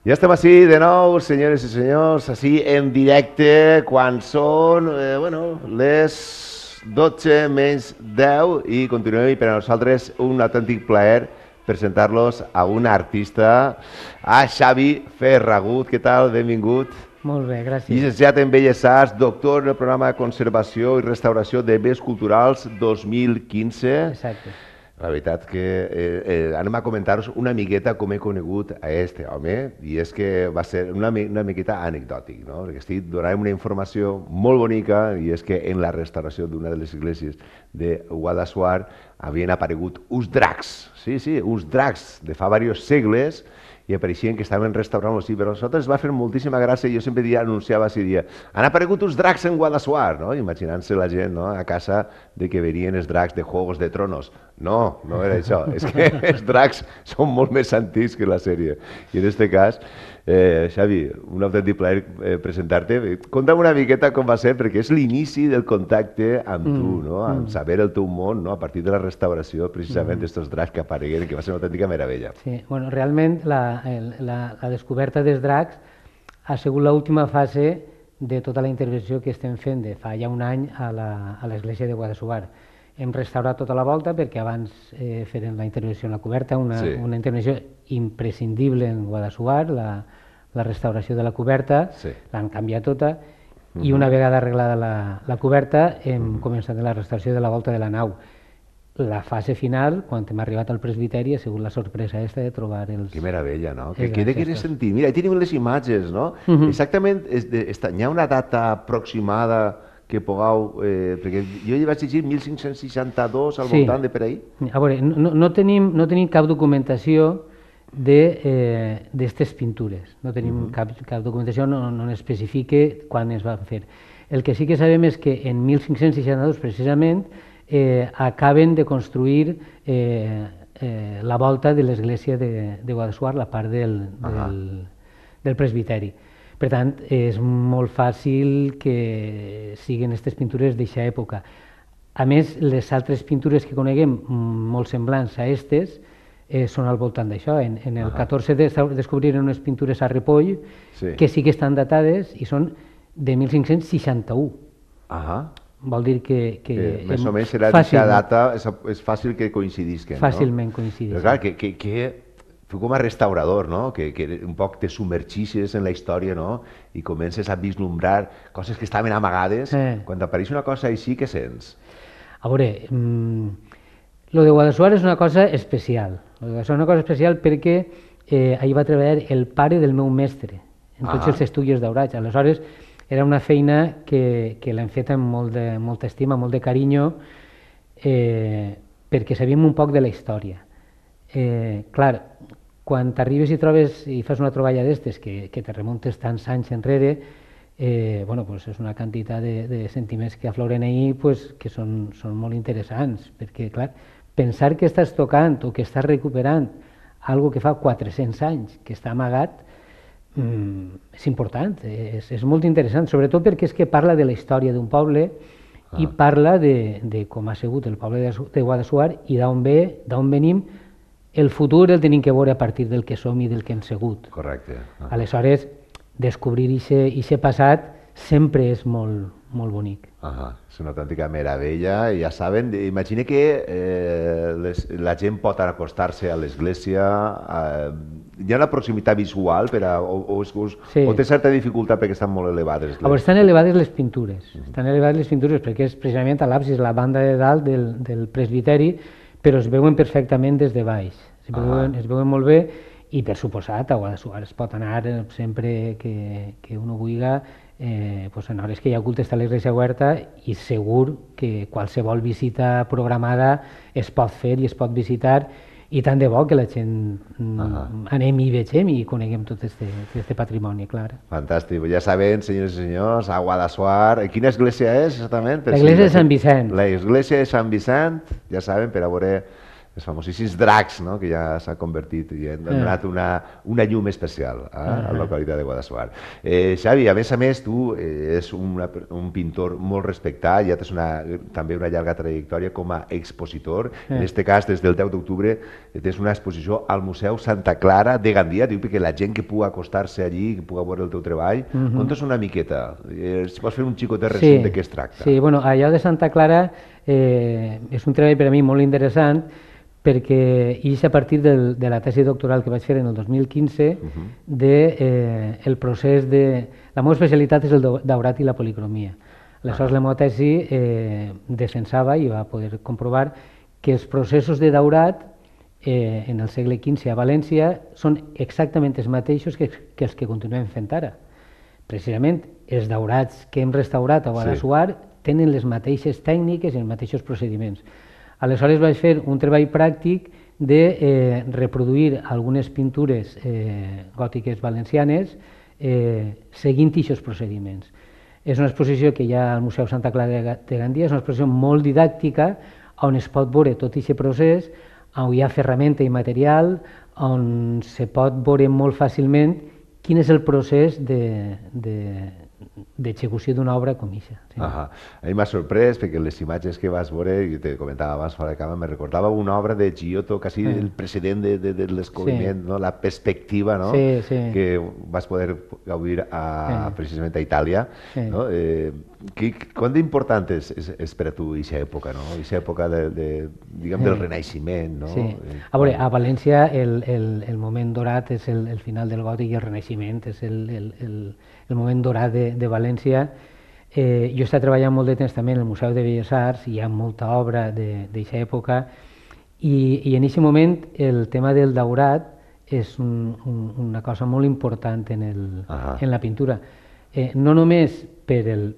Ja estem així de nou, senyores i senyors, així en directe, quan són, les 12 menys 10 i continuem i per a nosaltres un autèntic plaer presentar-los a un artista, a Xavi Ferragut. Què tal? Benvingut. Molt bé, gràcies. Llicenciat en Belles Arts, doctor en el programa de Conservació i Restauració de Béns Culturals 2015. Exacte. La veritat que anem a comentar-vos una miqueta com he conegut a este home, i és que va ser una miqueta anecdòtic, no? Perquè estic donant una informació molt bonica, i és que en la restauració d'una de les esglésies de Guadassuar havien aparegut uns dracs, sí, uns dracs de fa diversos segles, i apareixien que estaven restaurant-los, i per nosaltres va fer moltíssima gràcia, i jo sempre anunciava així, han aparegut uns dracs en Guadassuar, no? Imaginant-se la gent, no? A casa de que venien els dracs de Juegos de Tronos. No, no era això, és que els dracs són molt més antics que la sèrie. I en aquest cas, Xavi, un autèntic plaer presentar-te. Conta'm una miqueta com va ser, perquè és l'inici del contacte amb tu, no? Amb saber el teu món, no? A partir de la restauració, precisament, d'estos dracs que aparegueren, que va ser una autèntica meravella. Sí, bueno, realment la descoberta dels dracs ha sigut l'última fase de tota la intervenció que estem fent de fa ja un any a l'església de Guadassuar. Hem restaurat tota la volta perquè abans feren la intervenció en la coberta, una intervenció imprescindible en Guadassuar, la restauració de la coberta, l'han canviat tota, i una vegada arreglada la coberta hem començat la restauració de la volta de la nau. La fase final, quan hem arribat al presbiteri, ha sigut la sorpresa aquesta de trobar els... Que meravella, no? Què de querer sentir? Mira, hi tenim les imatges, no? Exactament, hi ha una data aproximada que pugueu... Perquè jo hi vaig llegir 1562 al voltant de per ahí. A veure, no tenim cap documentació d'aquestes pintures. No tenim cap documentació, no especifica quan es van fer. El que sí que sabem és que en 1562, precisament, acaben de construir la volta de l'església de Guadassuar, la part del presbiteri. Per tant, és molt fàcil que siguin aquestes pintures d'aquesta època. A més, les altres pintures que coneguem, molt semblants a aquestes, són al voltant d'això. En el 14 descobriren unes pintures a Ripoll que sí que estan datades i són de 1561. Vol dir que més o menys serà d'aquesta data, és fàcil que coincidisquen. Fàcilment coincidisquen. Però clar, tu com a restaurador, que un poc te submergixes en la història i comences a vislumbrar coses que estaven amagades, quan apareix una cosa així, què sents? A veure, lo de Guadassuar és una cosa especial. És una cosa especial perquè ahir va treballar el pare del meu mestre en tots els estudis daurats. Aleshores, era una feina que l'hem fet amb molta estima, molt de carinyo, perquè sabíem un poc de la història. Clar, quan t'arribes i trobes i fas una troballa d'estes que te remuntes tants anys enrere, és una quantitat de sentiments que afloren ahir que són molt interessants, perquè clar, pensar que estàs tocant o que estàs recuperant algo que fa 400 anys que està amagat és important, és molt interessant, sobretot perquè és que parla de la història d'un poble i parla de com ha sigut el poble de Guadassuar i d'on venim. El futur el tenim que veure a partir del que som i del que hem sigut. Correcte. Aleshores, descobrir aquest passat sempre és molt bonic. És una autèntica meravella. Ja saben, imagina que la gent pot acostar-se a l'església. Hi ha una proximitat visual o té certa dificultat perquè estan molt elevades? Estan elevades les pintures. Estan elevades les pintures perquè és precisament a l'absis, la banda de dalt del presbiteri, però es veuen perfectament des de baix, es veuen molt bé i per suposat a Guadassuar es pot anar sempre que uno vulgui, en hores que hi ha culte està l'església oberta i segur que qualsevol visita programada es pot fer i es pot visitar i tant de bo que la gent anem i vegem i coneguem tot aquest patrimoni, clar. Fantàstic. Ja saben, senyors i senyors, a Guadassuar, quina església és exactament? L'església de Sant Vicent. L'església de Sant Vicent, ja saben, per a veure els famosíssims dracs, no? Que ja s'ha convertit i han donat una llum especial a la localitat de Guadassuar. Xavi, a més, tu ets un pintor molt respectat, ja tens també una llarga trajectòria com a expositor. En aquest cas, des del 10 d'octubre, tens una exposició al Museu Santa Clara de Gandia, diu que la gent que pugui acostar-se allí, que pugui veure el teu treball, conta's una miqueta, si vols fer un xicotet recent de què es tracta. Sí, bueno, allò de Santa Clara és un treball per a mi molt interessant, perquè és a partir de la tesi doctoral que vaig fer en el 2015 del procés de... La meva especialitat és el daurat i la policromia. Aleshores, la meva tesi defensava i va poder comprovar que els processos de daurat en el segle XV a València són exactament els mateixos que els que continuem fent ara. Precisament, els daurats que hem restaurat a Guadassuar tenen les mateixes tècniques i els mateixos procediments. Aleshores vaig fer un treball pràctic de reproduir algunes pintures gòtiques valencianes seguint aquests procediments. És una exposició que hi ha al Museu Santa Clara de Gandia, és una exposició molt didàctica on es pot veure tot aquest procés, on hi ha ferramenta i material, on se pot veure molt fàcilment quin és el procés d'execució d'una obra com aquesta. A mi m'ha sorprès perquè les imatges que vas veure, i te comentava abans fora de cama, me recordava una obra de Giotto, quasi el precedent de l'escobriment, la perspectiva que vas poder gaudir precisament a Itàlia. Quant d'important és per a tu aquesta època, aquesta època del Renaixement? A veure, a València el moment dorat és el final del gòtic i el Renaixement és el moment dorat de València. Jo he estat treballant molt de temps també en el Museu de Belles Arts, hi ha molta obra d'aquesta època, i en aquest moment el tema del daurat és una cosa molt important en la pintura. No només per el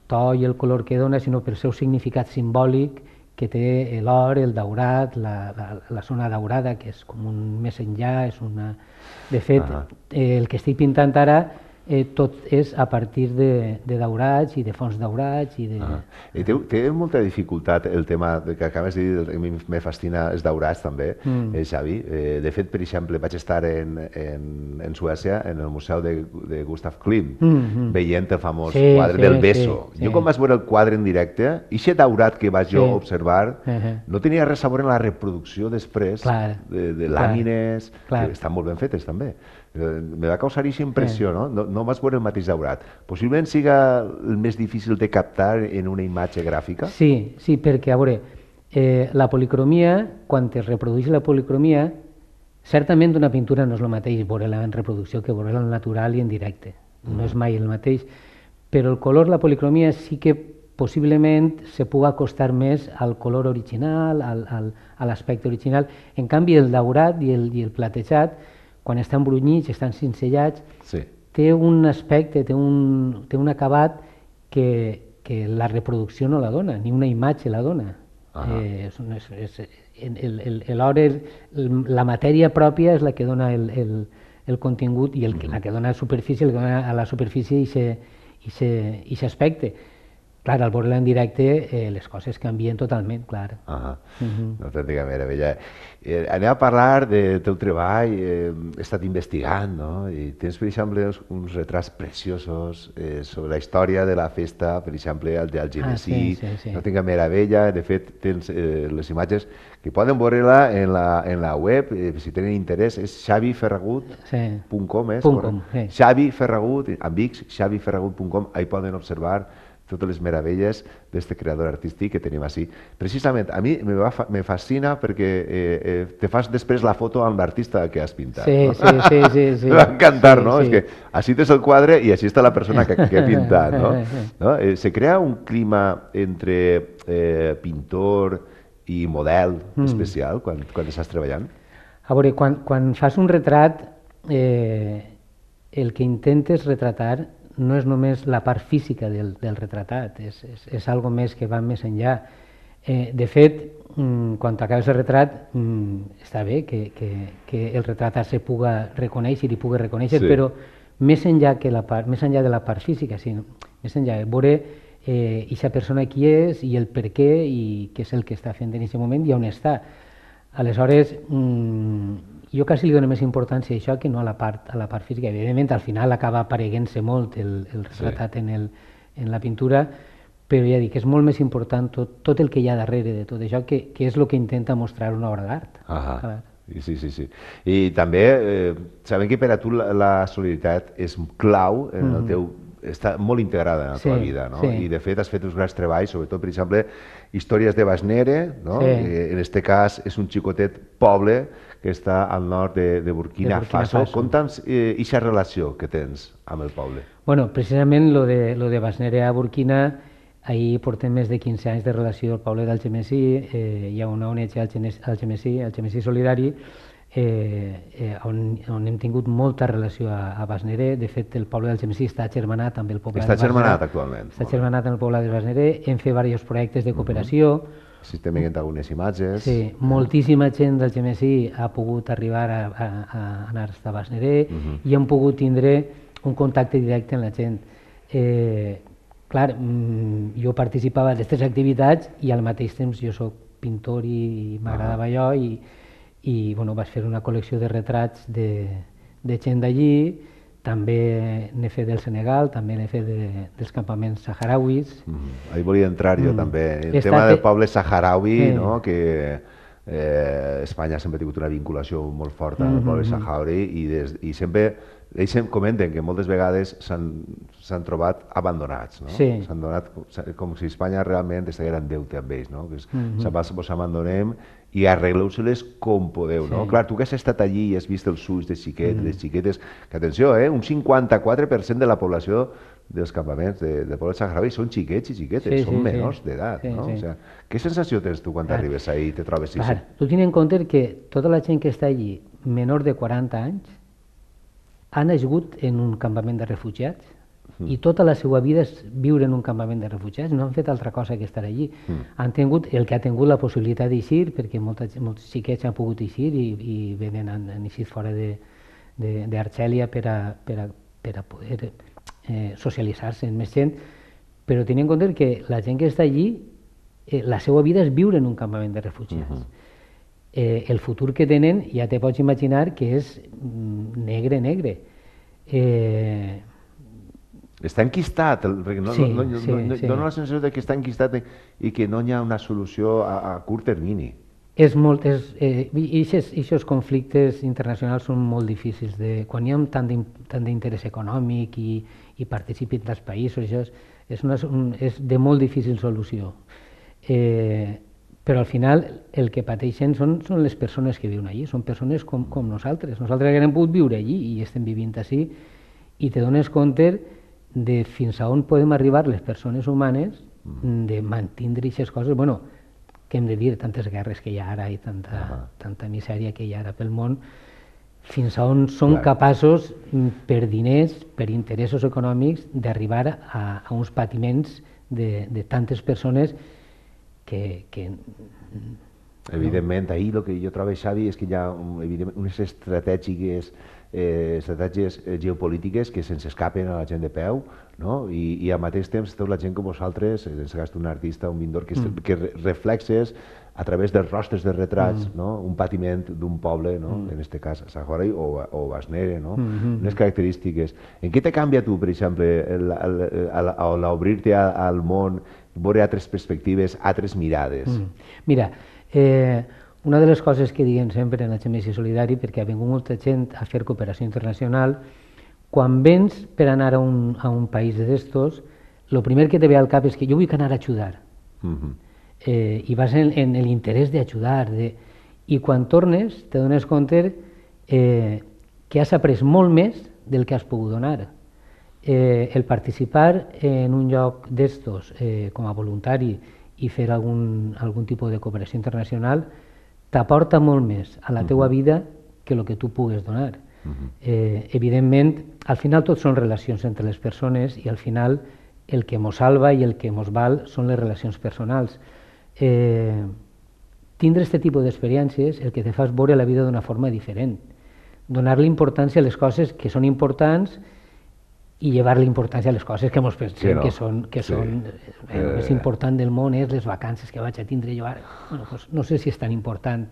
to i el color que dona, sinó pel seu significat simbòlic que té l'or, el daurat, la zona daurada, que és com un més enllà. De fet, el que estic pintant ara tot és a partir de daurats i de fons daurats. Té molta dificultat el tema que acabes de dir, a mi me fascina els daurats també, Xavi. De fet, per exemple, vaig estar en Suècia, en el museu de Gustav Klimt, veient el famós quadre del Beso. Jo quan vaig veure el quadre en directe, aquest daurat que vaig jo observar no tenia res a veure amb la reproducció després de làmines, que estan molt ben fetes també. Me va causar aquesta impressió, no vas veure el mateix daurat. Possiblement siga el més difícil de captar en una imatge gràfica? Sí, perquè, a veure, la policromia, quan es reprodueix la policromia, certament una pintura no és el mateix veure-la en reproducció que veure-la en natural i en directe. No és mai el mateix. Però el color, la policromia, sí que possiblement se pugui acostar més al color original, a l'aspecte original. En canvi, el daurat i el platejat, quan estan brunyits, estan cincellats, té un aspecte, té un acabat que la reproducció no la dona, ni una imatge la dona. L'or, la matèria pròpia és la que dona el contingut i la que dona superfície, la que dona a la superfície aquest aspecte. Clar, al veure-la en directe les coses canvien totalment, clar. Una autèntica meravella. Anem a parlar del teu treball, he estat investigant, i tens, per exemple, uns retrats preciosos sobre la història de la festa, per exemple, el d'Algemesí, una autèntica meravella. De fet, tens les imatges que poden veure-la en la web, si tenen interès, és xaviferragut.com, Xavi Ferragut, amb X, xaviferragut.com, ahí poden observar totes les meravelles d'aquest creador artístic que tenim així. Precisament, a mi me fascina perquè te fas després la foto amb l'artista que has pintat. Sí. Me va encantar, no? És que així tens el quadre i així està la persona que he pintat, no? Se crea un clima entre pintor i model especial quan estàs treballant? A veure, quan fas un retrat, el que intentes retratar no és només la part física del retratat, és algo més que va més enllà. De fet, quan acabes el retrat, està bé que el retratat se pugui reconèixer i pugui reconèixer, però més enllà de la part física, més enllà de veure aquesta persona qui és i el per què i què és el que està fent en aquest moment i on està. Aleshores, jo quasi li dono més importància a això que no a la part física. Evidentment, al final acaba apareguent-se molt el retratat en la pintura, però ja dic, és molt més important tot el que hi ha darrere de tot això, que és el que intenta mostrar una obra d'art. Sí. I també sabem que per a tu la solidaritat és clau en el teu... està molt integrada en la teva vida, no? I de fet has fet uns grans treballs, sobretot, per exemple, Històries de Basnere, no? En aquest cas és un xicotet poble que està al nord de Burkina Faso. Conta'ns aquesta relació que tens amb el poble. Bueno, precisament lo de Basnere a Burkina, ahir portem més de 15 anys de relació al poble d'Algemesí, hi ha una ONG Algemesí Solidari, on hem tingut molta relació a Basnere. De fet, el poble d'Algemesí està agermanat amb el poble de Basnere. Està agermanat actualment. Està agermanat amb el poble de Basnere. Hem fet diversos projectes de cooperació. Estem veient algunes imatges. Sí, moltíssima gent d'Algemesí ha pogut arribar a anar a Basnere i hem pogut tindre un contacte directe amb la gent. Clar, jo participava d'aquestes activitats i al mateix temps jo soc pintor i m'agradava allò i vaig fer una col·lecció de retrats de gent d'allí. També n'he fet del Senegal, també n'he fet dels campaments saharauis. Ahí volia entrar jo també. El tema del poble saharaui, que Espanya sempre ha tingut una vinculació molt forta amb el poble saharaui i sempre ells comenten que moltes vegades s'han trobat abandonats. S'han donat com si Espanya realment estigués en deute amb ells. Vos abandonem i arregleu-se-les com podeu. Clar, tu que has estat allí i has vist els ulls de xiquets, les xiquetes, que atenció, un 54% de la població dels campaments del poble saharaui són xiquets i xiquetes, són menors d'edat. Què sensació tens tu quan t'arribes ahí i te trobes així? Tu tens en compte que tota la gent que està allí, menor de 40 anys, ha nascut en un campament de refugiats i tota la seva vida és viure en un campament de refugiats, no han fet altra cosa que estar allí. Han tingut el que ha tingut la possibilitat d'eixir, perquè molts xiquets han pogut eixir i han eixit fora d'Argèlia per a poder socialitzar-se amb més gent, però tenint en compte que la gent que està allí, la seva vida és viure en un campament de refugiats. El futur que tenen ja te pots imaginar que és negre. Està enquistat, dona la sensació que està enquistat i que no hi ha una solució a curt termini. Aquests conflictes internacionals són molt difícils. Quan hi ha tant d'interès econòmic i participin dels països, és de molt difícil solució. Però al final el que pateixen són les persones que viuen allí, són persones com nosaltres. Nosaltres hem pogut viure allí i estem vivint així i te dones compte de fins a on podem arribar les persones humanes de mantindre aquestes coses. Què hem de dir, tantes guerres que hi ha ara i tanta misèria que hi ha ara pel món, fins a on som capaços per diners, per interessos econòmics, d'arribar a uns patiments de tantes persones que... Evidentment, ahir el que jo trobo, Xavi, és que hi ha unes estratègies geopolítiques que se'ns escapen a la gent de peu, i al mateix temps tota la gent com vosaltres, en aquest cas un artista, un pintor, que reflexes a través dels rostres de retrats un patiment d'un poble, en aquest cas saharaui o Basnere, unes característiques. En què te canvia tu, per exemple, a l'obrir-te al món, veure altres perspectives, altres mirades? Mira, una de les coses que diguem sempre en Algemesí Solidari, perquè ha vingut molta gent a fer cooperació internacional, quan vens per anar a un país d'estos, el primer que te ve al cap és que jo vull anar a ajudar. I vas en l'interès d'ajudar. I quan tornes te dones compte que has après molt més del que has pogut donar. El participar en un lloc d'estos com a voluntari i fer algun tipus de cooperació internacional t'aporta molt més a la teua vida que el que tu pugues donar. Evidentment, al final tot són relacions entre les persones i al final el que mos salva i el que mos val són les relacions personals. Tindre aquest tipus d'experiències el que te fa és veure la vida d'una forma diferent, donar-li importància a les coses que són importants i llevar-li importància a les coses que ens pensem que són el més important del món és les vacances que vaig a tindre jo ara. No sé si és tan important,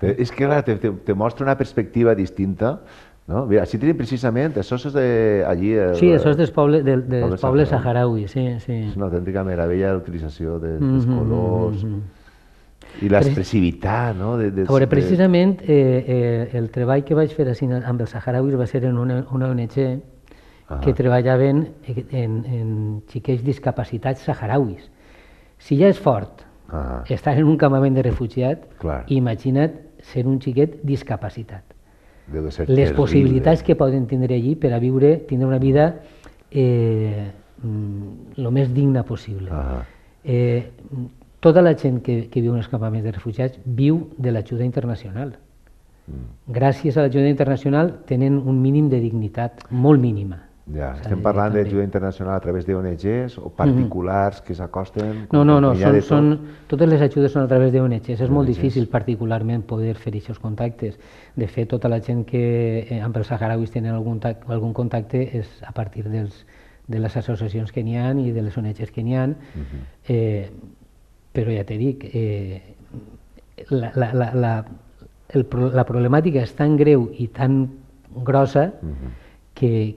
És que, clar, te mostra una perspectiva distinta, no? Mira, així tenim precisament, això és allí... Sí, això és dels pobles saharauis, sí. És una autèntica meravella l'utilització dels colors i l'expressivitat, no? A veure, precisament el treball que vaig fer amb els saharauis va ser en una ONG que treballaven en xiquets discapacitats saharauis. Si ja és fort estar en un campament de refugiat, imagina't ser un xiquet discapacitat. Les possibilitats que poden tindre allí per a tindre una vida el més digna possible. Tota la gent que viu en els campaments de refugiats viu de l'ajuda internacional. Gràcies a l'ajuda internacional tenen un mínim de dignitat, molt mínima. Ja, estem parlant d'ajuda internacional a través d'ONGs o particulars que s'acosten? No, totes les ajudes són a través d'ONGs. És molt difícil particularment poder fer aquests contactes. De fet, tota la gent que amb els saharauis tenen algun contacte és a partir de les associacions que n'hi ha i de les ONGs que n'hi ha. Però ja t'he dit, la problemàtica és tan greu i tan grossa que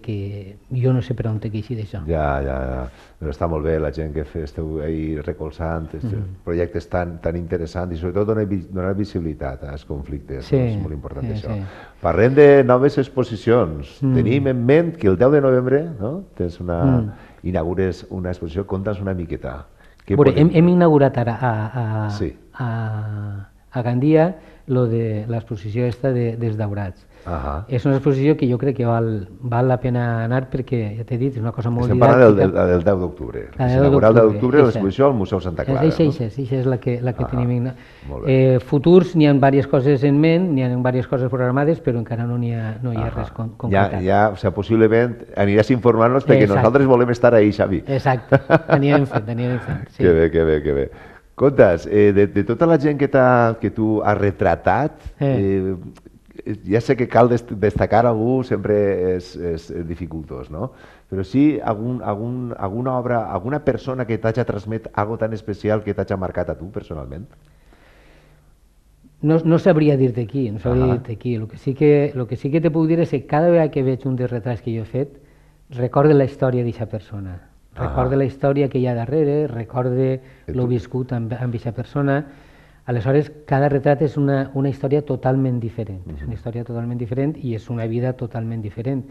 jo no sé per on t'he d'això. Ja. Però està molt bé la gent que esteu ahí recolzant projectes tan interessants i sobretot donar visibilitat als conflictes. És molt important això. Parlem de noves exposicions. Tenim en ment que el 10 de novembre inaugures una exposició. Conta'ns una miqueta. Hem inaugurat ara a Gandia l'exposició dels daurats. És una exposició que jo crec que val la pena anar perquè, ja t'he dit, és una cosa molt didàctica. Estem parlant del 10 d'octubre. S'inaugurarà el 10 d'octubre l'exposició al Museu Santa Clara. Això és la que tenim. Futurs, n'hi ha diverses coses en ment, n'hi ha diverses coses programades, però encara no hi ha res concretat. Ja, o sigui, possiblement aniràs informant-nos perquè nosaltres volem estar ahí, Xavi. Exacte, anirem fent. Que bé. Contes, de tota la gent que tu has retratat, ja sé que cal destacar algú, sempre és dificultós, no? Però sí alguna obra, alguna persona que t'hagi transmet algo tan especial que t'hagi marcat a tu personalment? No sabria dir-te aquí, El que sí que te puc dir és que cada vegada que veig un dels retrats que jo he fet, recorde la història d'aquesta persona. Recorde la història que hi ha darrere, recorde el viscut amb aquesta persona. Aleshores, cada retrat és una història totalment diferent. És una història totalment diferent i és una vida totalment diferent.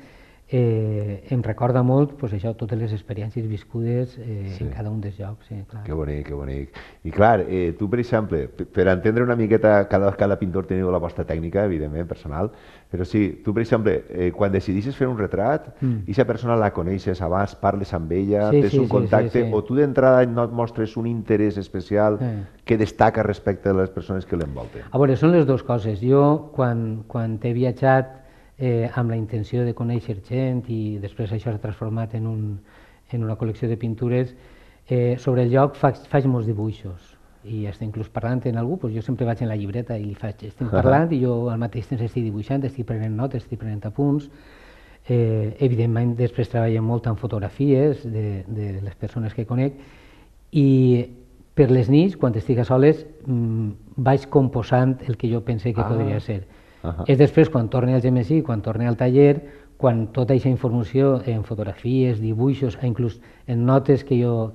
Em recorda molt totes les experiències viscudes en cada un dels llocs. Que bonic. I clar, tu, per exemple, per entendre una miqueta, cada pintor teniu la vostra tècnica, evidentment, personal, però sí, tu, per exemple, quan decidissis fer un retrat, aquesta persona la coneixes abans, parles amb ella, tens un contacte, o tu d'entrada no et mostres un interès especial que destaca respecte a les persones que l'envolten? A veure, són les dues coses. Jo, quan he viatjat amb la intenció de conèixer gent i després això s'ha transformat en una col·lecció de pintures, sobre el lloc faig molts dibuixos i inclús parlant amb algú, jo sempre vaig en la llibreta i estic parlant i jo al mateix temps estic dibuixant, estic prenent notes, estic prenent apunts. Evidentment després treballem molt en fotografies de les persones que conec i per les nits, quan estic a soles, vaig composant el que jo pense que podria ser. És després, quan torne al GMSI, quan torne al taller, quan tota aquesta informació en fotografies, dibuixos, inclús en notes que jo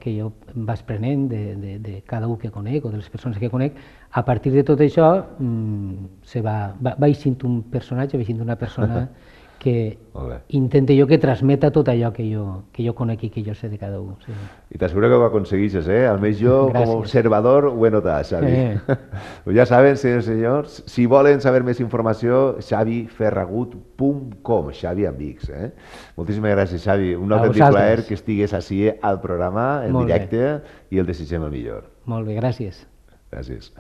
vaig prenent de cada un que conec o de les persones que conec, a partir de tot això vaig sent un personatge, vaig sent una persona que intento jo que transmeta tot allò que jo conec i que jo sé de cada un. I t'asseguro que ho aconseguixes, Almenys jo, com a observador, ho he notat, Xavi. Ja saben, senyors i senyors, si volen saber més informació, xaviferragut.com, Xavi amb X. Moltíssimes gràcies, Xavi. Un autèntic plaer que estigues així al programa, en directe, i el desitgem el millor. Molt bé, gràcies. Gràcies.